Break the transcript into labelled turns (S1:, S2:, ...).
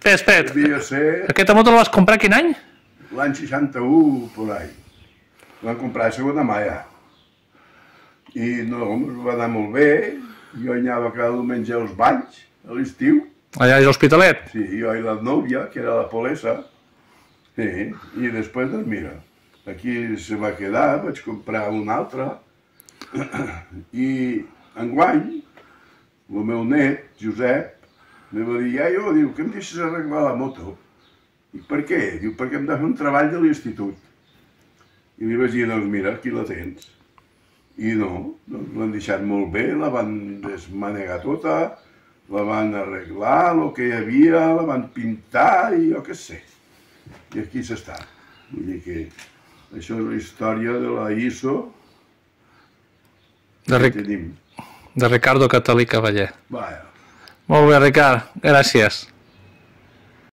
S1: Espera,
S2: Devia ser
S1: aquesta moto la vas comprar quin any?
S2: l'any 61, por ahí. La vam comprar a segona mà ja. I no, va anar molt bé. Jo anava cada diumenge als balls, a l'estiu.
S1: Allà a l'Hospitalet?
S2: Sí, jo i la nòvia, que era la Polesa. Sí, i després, doncs mira, aquí se va quedar, vaig comprar una altra. I enguany, el meu net, Josep, me va dir, iaio, diu, que em deixes arreglar la moto? I per què? Diu, perquè hem de fer un treball de l'institut. I li vaig dir, doncs mira, aquí la tens. I no, doncs l'han deixat molt bé, la van desmanegar tota, la van arreglar, el que hi havia, la van pintar i jo què sé. I aquí s'està. Vull dir que això és la història de la ISO que tenim.
S1: De Ricardo Catalí Cavaller.
S2: Vaja.
S1: Molt bé, Ricard, gràcies.